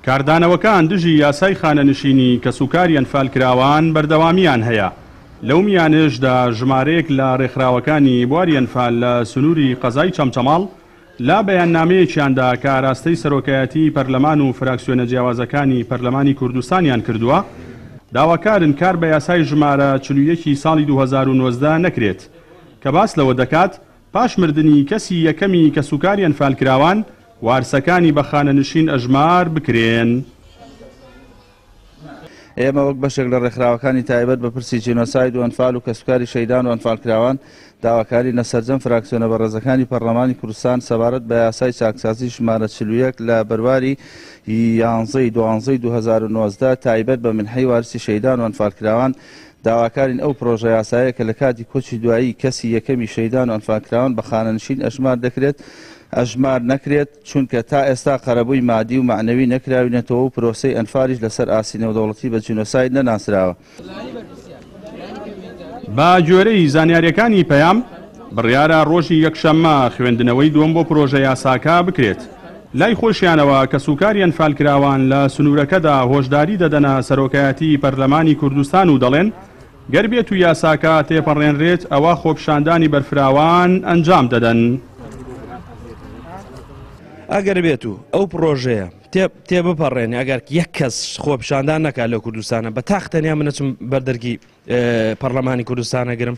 کاردانەوەکان دژی یاسای خانەنشینی کەسوکاری ئەنفالکراوان بەردەوامییان هەیە، لەو میانەیەشدا ژمارەیەک لە رێکخراوەکانی بواری ئەنفال لە سنووری قەزای چەمچەماڵ لە بەیاننامەیەکیاندا کە ئاراستەی سەرۆکایەتیی پەرلەمان و فراکسیۆنە جیاوازەکانی پەرلەمانی کوردستانیان کردووە داواکارن کار بە یاسای ژمارە 41 ی ساڵی 2019 نەکرێت کە باس لەوە دەکات پاش مردنی کەسی یەکەمی کەسوکاری ئەنفالکراوان وارسەکانی بە خانەنشین ئەژمار بکرێن. ئێمە وەک بەشێک لە ڕێکخراوەکانی تایبەت بە پرسی جینۆساید و ئەنفال و کەسوکاری شەهیدان و ئەنفالکراوان داواکارین لە سەرجەم فراکسیۆنە بەڕێزەکانی پەڕلەمانی کوردستان سەبارەت بە یاسای چاکسازی ژمارە 41 لە بەرواری یانزەی دوانزەی 2019 تایبەت بە منحەی وارسی شەهیدان و ئەنفالکراوان داواکارین ئەو پرۆژە یاسایە کە لە کاتی کۆچی دوایی کەسی یەکەمی شەهیدان و ئەنفالکراوان بە خانەنشین ئەژمار دەکرێت ئەژمار نەکرێت، چونکە تا ئێستا قەرەبووی مادی و مەعنەوی نەکراوینەتەوە و پرۆسەی ئەنفالیش لەسەر ئاستی نێودەوڵەتی بە جینۆساید نەناسراوە. بە گوێرەی زانیارییەکانی پەیام، بڕیارە ڕۆژی یەکشەممە خوێندنەوەی دووەم بۆ پرۆژە یاساکە بکرێت. لای خۆشیانەوە کەسوکاری ئەنفالکراوان لە سنوورەکەدا هۆشداری دەدەنە سەرۆکایەتیی پەرلەمانی کوردستان و دەڵێن، گەر بێتو یاساکە تێپەڕێنرێت ئەوا خۆپیشاندانی بەرفراوان ئەنجام دەدەن. ئەگەر بێتو ئەو پڕۆژەیە تێبپەڕێنێ ئەگەر یەک کەس خۆپیشاندان نەکات لەو کوردستانە بە تاق تەنیا من ئەچم بەر دەرگی پەرلەمانی کوردستان ئەگرم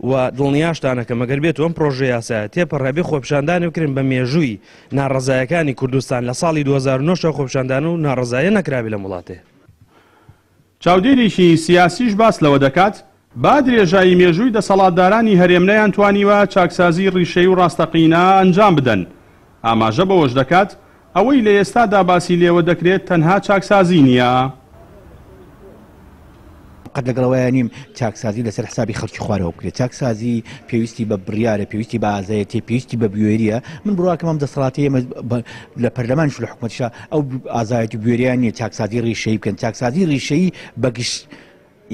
و دڵنیاشتانەکەم ئەگەر بێت ئەم پرۆژە یاسایە تێپەڕێ بێ خۆپیشاندانی بکرێن بە مێژووی ناڕەزایەکانی کوردستان لە ساڵی 2009 خۆپیشاندان و ناڕەزایە نەکرابێ لەم وڵاتێ. چاودێرێکی سیاسیش باس لەوە دەکات، بە درێژایی مێژووی دەسەڵاتدارانی هەرێم نەیانتوانیوە چاکسازیی ڕیشەیی و ڕاستەقینە ئەنجام بدەن، ئاماژە بەوەش دەکات، ئەوەی لە ئێستادا باسی لێوە دەکرێت تەنها چاکسازی نییە. قەت لەگەڵ ئەوەیا نیم چاکسازی لەسەر حسابی خەڵکی خوارەوە بکرێت، چاکسازی پێویستی بە بڕیارە، پێویستی بە ئازایەتیە، پێویستی بە بوێریە، من بڕواکەم ئەم دەسەڵاتەی ئێمە لە پەرلەمانیش و لە حکومەتیشا ئەو ئازایەتی و بوێریان نییە چاکسازی ڕیشەیی بکەن، چاکسازی ڕیشەیی بەگشت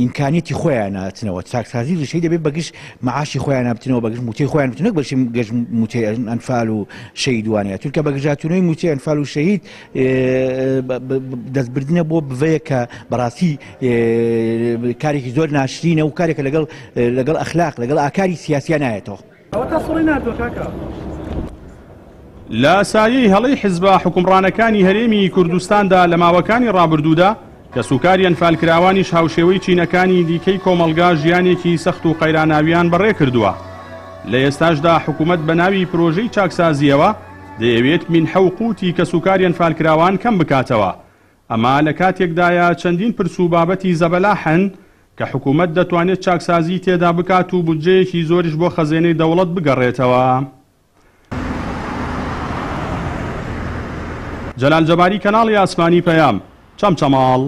ئیمکانیەتی خۆیان ئەچنەوە، چاکسازی ڕیشەیی دەبێت بەگشت معاشی خۆیان بچنەوە، بەگشت موچەی خۆیان بچنەوە، نەک بەشی گەشت موچەی ئەنفال و شەهید وانەیە، چونکە بەگژاچوونەوەی موچەی ئەنفال و شەهید دەستبردنە بۆ بڤەیە کە بەڕاستی کارێکی زۆر ناشرینە و کارێکە لەگەڵ لەگەڵ ئەخلاق لەگەڵ ئاکاری سیاسیا نایەتەوە. ئەوەتا سوڕی ناردوە کاکە. لە سایەی هەڵەی حزبە حوکمڕانەکانی هەرێمی کوردستاندا لە ماوەکانی ڕابردوودا، کەسوکاری ئەنفالکراوانیش هاوشێوەی چینەکانی دیکەی کۆمەڵگا ژیانێکی سەخت و قەیراناویان بەڕێکردووە. لە ئێستاشدا حکومەت بە ناوی پرۆژەی چاکسازییەوە دەیەوێت مینحە و قوتی کەسوکاری ئەنفالکراوان کەم بکاتەوە. ئەمە لە کاتێکدایە چەندین پرس و بابەتی زەبەلاح هەن کە حکومەت دەتوانێت چاکسازیی تێدا بکات و بودجەیەکی زۆریش بۆ خەزێنەی دەوڵەت بگەڕێتەوە. جەلال جەباری کەناڵی ئاسمانی پەیام، چەمچەماڵ.